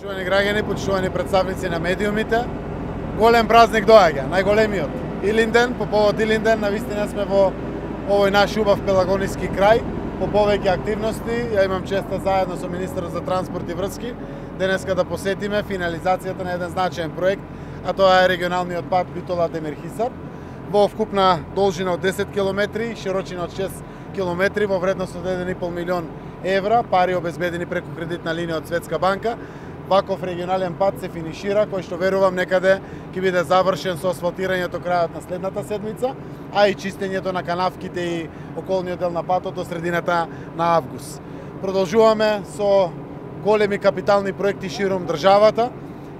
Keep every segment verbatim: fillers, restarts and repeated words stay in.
Почитувани граѓани, почитувани представници на медиумите, голем празник доаѓа, најголемиот Илинден. По повод Илинден, навистина сме во овој наш убав пелагониски крај, по повеќе активности. Ја имам честа заедно со министерот за транспорт и врски денеска да посетиме финализацијата на еден значаен проект, а тоа е регионалниот пат Битола-Демир Хисар, во вкупна должина од десет километри и широчина од шест километри во вредност од еден и пол милион евра, пари обезбедени преку кредитна линија од Светска банка. Ваков регионален пат се финишира, кој што верувам некаде ќе биде завршен со асфалтирањето крајот на следната седмица, а и чистењето на канавките и околниот дел на патот до средината на август. Продолжуваме со големи капитални проекти широм државата.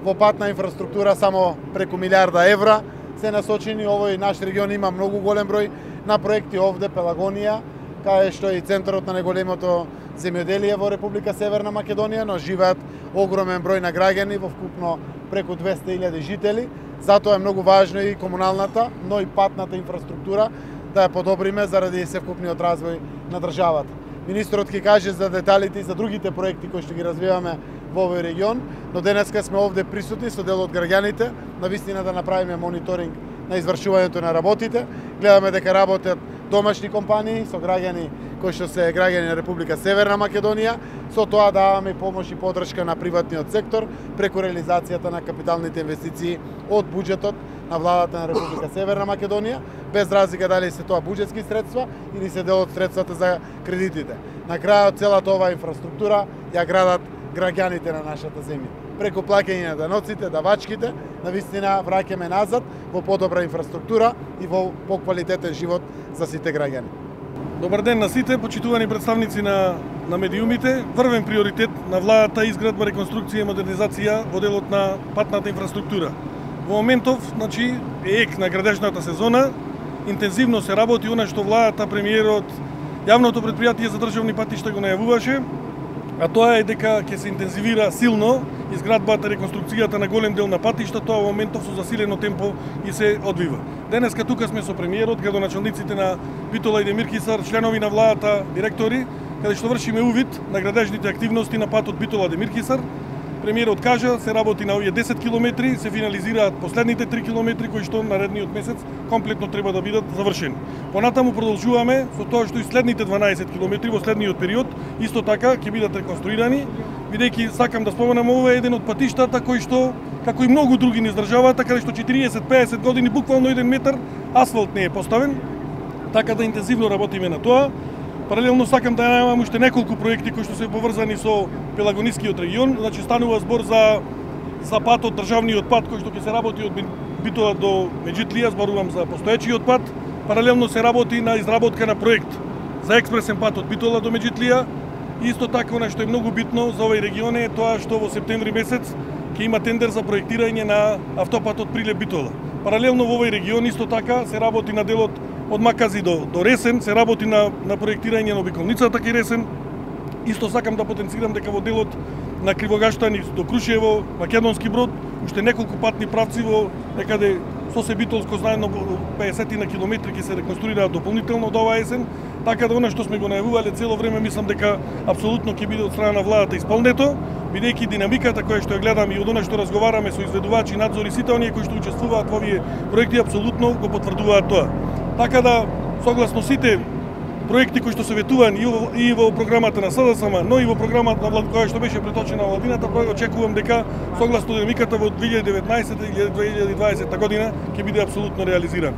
Во патна инфраструктура само преку милиарда евра се насочени. Овој наш регион има многу голем број на проекти овде, Пелагонија, кај што е и центарот на најголемото земјоделие во Република Северна Македонија, но живеат огромен број на граѓани, во вкупно преку двесте илјади жители. Затоа е многу важно и комуналната, но и патната инфраструктура да ја подобриме заради севкупниот развој на државата. Министерот ќе каже за деталите и за другите проекти кои што ги развиваме во овој регион, но денеска сме овде присутни со дел од граѓаните, навистина да направиме мониторинг на извршувањето на работите. Гледаме дека работат домашни компании со граѓани кои што се граѓани на Република Северна Македонија. Со тоа даваме и помош и подршка на приватниот сектор преку реализацијата на капиталните инвестиции од буџетот на владата на Република Северна Македонија, без разлика дали се тоа буџетски средства или се дел од средствата за кредитите. На крајот целата оваа инфраструктура ја градат граѓаните на нашата земја. Преку плаќање на даноците, давачките, навистина враќаме назад во подобра инфраструктура и во поквалитетен живот за сите граѓани. Добар ден на сите, почитувани представници на, на медиумите. Првен приоритет на владата е изградба, реконструкција и модернизација во делот на патната инфраструктура. Во моментов, значи, е ек на градежната сезона, интензивно се работи она што владата, премиерот, јавното претпријатие за државни патишта го најавуваше, а тоа е дека ќе се интензивира силно изградбата, реконструкцијата на голем дел на патишта, тоа во моментов со засилено темпо и се одвива. Денеска тука сме со премиерот, градоначалниците на Битола и Демир Хисар, членови на владата, директори, каде што вршиме увид на градежните активности на патот Битола-Демир Хисар. Премиерот кажа, се работи на овие десет километри, се финализираат последните три километри кои што наредниот месец комплетно треба да бидат завршени. Понатаму продолжуваме со тоа што и следните дванаесет километри во следниот период исто така ќе бидат реконструирани, бидејќи сакам да споменам, ова е еден од патиштата кои што, како и многу други низ државата, каде што четириесет до пеесет години буквално еден метар асфалт не е поставен, така да интензивно работиме на тоа. Паралелно сакам да најавам уште неколку проекти кои што се поврзани со Пелагонискиот регион. Значи станува збор за за патот, државниот пат кој што ќе се работи од Битола до Меджитлија, зборувам за постоечиот пат. Паралелно се работи на изработка на проект за експресен пат од Битола до Меджитлија. Исто така она што е многу битно за овој регион е тоа што во септември месец ќе има тендер за проектирање на автопатот Прилеп-Битола. Паралелно во овој регион исто така се работи на делот од Макази до, до Ресен, се работи на, на проектирање на обиколницата кај Ресен. Исто сакам да потенцирам дека во делот на Кривогаштани до Крушево, Македонски Брод, уште неколку патни правци во некаде Сосе Битолско заедно пеесет на километри ќе се реконструираат дополнително до оваа есен, така да она што сме го најавувале цело време мислам дека апсолутно ќе биде од страна на владата исполнето, бидејќи динамиката која што ја гледам и од она што разговараме со изведувачи, надзори, сите оние кои што учествуваат во овие проекти апсолутно го потврдуваат тоа. Така да, согласно сите проекти кои што се ветувани и во програмата на СДСМ, но и во програмата на која што беше преточена во владината, очекувам дека согласно динамиката во две илјади и деветнаесета и две илјади и дваесета година ќе биде апсолутно реализиран.